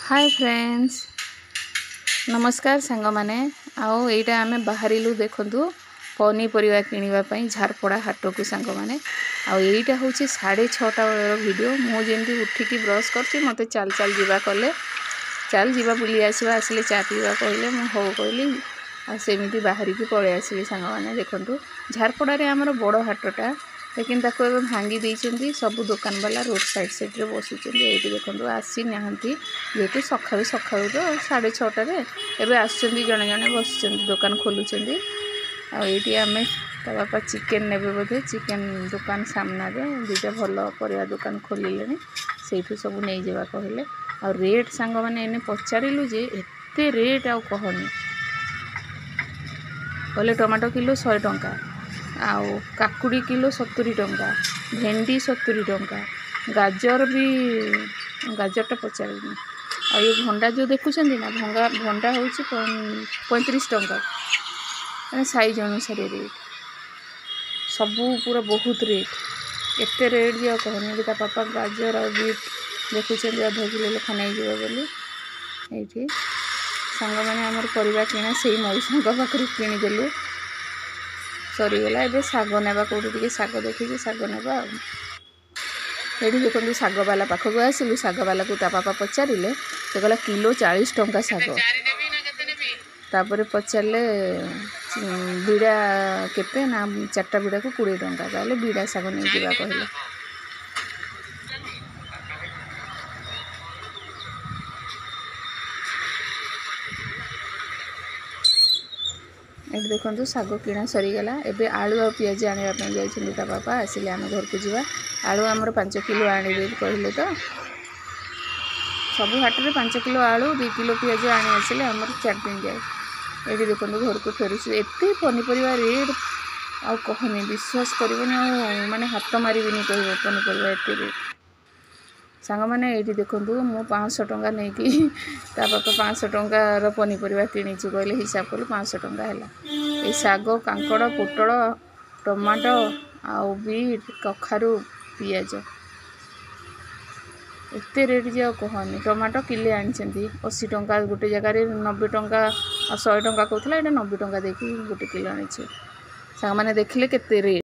ହାଏ friends, ନମସ୍କାର ସାଙ୍ଗମାନେ। ଆଉ ଏଇଟା ଆମେ ବାହାରିଲୁ ଦେଖନ୍ତୁ ପନିପରିବା କିଣିବା ପାଇଁ ଝାରପଡ଼ା ହାଟକୁ ସାଙ୍ଗମାନେ। ଆଉ ଏଇଟା ହେଉଛି 6:30 ବେଳର ଭିଡ଼ିଓ। ମୁଁ ଯେମିତି ଉଠିକି ବ୍ରସ୍ କରିଛି, ମୋତେ ଚାଲ ଚାଲ ଯିବା କଲେ, ଚାଲ ଯିବା ବୁଲି ଆସିବା, ଆସିଲେ ଚା ପିଇବା କହିଲେ, ମୁଁ ହଉ କହିଲି। ଆଉ ସେମିତି ବାହାରିକି ପଳେଇ ଆସିଲି ସାଙ୍ଗମାନେ। ଦେଖନ୍ତୁ ଝାରପଡ଼ାରେ ଆମର ବଡ଼ ହାଟଟା, ଲେକିନ୍ ତାକୁ ଏବେ ଭାଙ୍ଗି ଦେଇଛନ୍ତି। ସବୁ ଦୋକାନବାଲା ରୋଡ଼ ସାଇଡ଼୍ ସାଇଡ଼୍ରେ ବସୁଛନ୍ତି। ଏଇଠି ଦେଖନ୍ତୁ ଆସିନାହାନ୍ତି, ଯେହେତୁ ସକାଳୁ ସକାଳୁ ତ 6:30ରେ ଏବେ ଆସୁଛନ୍ତି, ଜଣେ ଜଣେ ବସୁଛନ୍ତି, ଦୋକାନ ଖୋଲୁଛନ୍ତି। ଆଉ ଏଇଠି ଆମେ ତା ବାପା ଚିକେନ୍ ନେବେ ବୋଧେ, ଚିକେନ୍ ଦୋକାନ ସାମ୍ନାରେ ଦୁଇଟା ଭଲ ପରିବା ଦୋକାନ ଖୋଲିଲେଣି, ସେଇଠୁ ସବୁ ନେଇଯିବା କହିଲେ। ଆଉ ରେଟ୍ ସାଙ୍ଗମାନେ ଏନେ ପଚାରିଲୁ ଯେ ଏତେ ରେଟ୍ ଆଉ କହନି। କହିଲେ ଟମାଟୋ କିଲୋ 100 ଟଙ୍କା, ଆଉ କାକୁଡ଼ି କିଲୋ 70 ଟଙ୍କା, ଭେଣ୍ଡି 70 ଟଙ୍କା, ଗାଜର ବି, ଗାଜରଟା ପଚାରିନି। ଆଉ ଏ ଭଣ୍ଡା ଯେଉଁ ଦେଖୁଛନ୍ତି ନା, ଭଣ୍ଡା ହେଉଛି 35 ଟଙ୍କା, ମାନେ ସାଇଜ୍ ଅନୁସାରେ ରେଟ୍। ସବୁ ପୁରା ବହୁତ ରେଟ୍, ଏତେ ରେଟ୍ ଯେ ଆଉ କହନି। ଏଠି ତା ବାପା ଗାଜର ଆଉ ବିଟ୍ ଦେଖୁଛନ୍ତି ଅଧ କିଲୋ ଲେଖା ନେଇଯିବ ବୋଲି। ଏଇଠି ସାଙ୍ଗମାନେ ଆମର ପରିବା କିଣା ସେଇ ମଉସାଙ୍କ ପାଖରୁ କିଣିଦେଲୁ, ସରିଗଲା। ଏବେ ଶାଗ ନେବା, କେଉଁଠି ଟିକେ ଶାଗ ଦେଖିକି ଶାଗ ନେବା। ଆଉ ଏଠି ଦେଖନ୍ତୁ ଶାଗବାଲା ପାଖକୁ ଆସିଲୁ। ଶାଗବାଲାକୁ ତା ବାପା ପଚାରିଲେ, ସେ କହିଲା କିଲୋ 40 ଟଙ୍କା ଶାଗ। ତାପରେ ପଚାରିଲେ ବିଡ଼ା କେତେ ନା, 4ଟା ବିଡ଼ାକୁ 20 ଟଙ୍କା, ତାହେଲେ ବିଡ଼ା ଶାଗ ନେଇଯିବା କହିଲେ। ଏଠି ଦେଖନ୍ତୁ ଶାଗ କିଣା ସରିଗଲା। ଏବେ ଆଳୁ ଆଉ ପିଆଜ ଆଣିବା ପାଇଁ ଯାଇଛନ୍ତି ତା ବାପା, ଆସିଲେ ଆମେ ଘରକୁ ଯିବା। ଆଳୁ ଆମର 5 କିଲୋ ଆଣିବେ କହିଲେ ତ, ସବୁ ହାଟରେ 5 କିଲୋ ଆଳୁ 2 କିଲୋ ପିଆଜ ଆଣି ଆସିଲେ ଆମର 4 ଦିନ ଯାଏ। ଏଠି ଦେଖନ୍ତୁ ଘରକୁ ଫେରୁଛୁ। ଏତେ ପନିପରିବା ରେଟ୍ ଆଉ କହନି, ବିଶ୍ୱାସ କରିବନି, ଆଉ ମାନେ ହାତ ମାରିବିନି କହିବ, ପନିପରିବା ଏତେ ରେଟ୍। ସାଙ୍ଗମାନେ ଏଇଠି ଦେଖନ୍ତୁ ମୁଁ 500 ଟଙ୍କା ନେଇକି ତା ବାପା 500 ଟଙ୍କାର ପନିପରିବା କିଣିଛୁ କହିଲେ, ହିସାବ କଲୁ 500 ଟଙ୍କା ହେଲା। ଏଇ ଶାଗ, କାଙ୍କଡ଼, ପୋଟଳ, ଟମାଟୋ ଆଉ ବିଟ୍, କଖାରୁ, ପିଆଜ, ଏତେ ରେଟ୍ ଯେ ଆଉ କହନି। ଟମାଟୋ କିଲେ ଆଣିଛନ୍ତି 80 ଟଙ୍କା, ଗୋଟେ ଜାଗାରେ 90 ଟଙ୍କା ଆଉ 100 ଟଙ୍କା କହୁଥିଲା, ଏଇଟା 90 ଟଙ୍କା ଦେଇକି ଗୋଟେ କିଲୋ ଆଣିଛୁ। ସାଙ୍ଗମାନେ ଦେଖିଲେ କେତେ ରେଟ୍।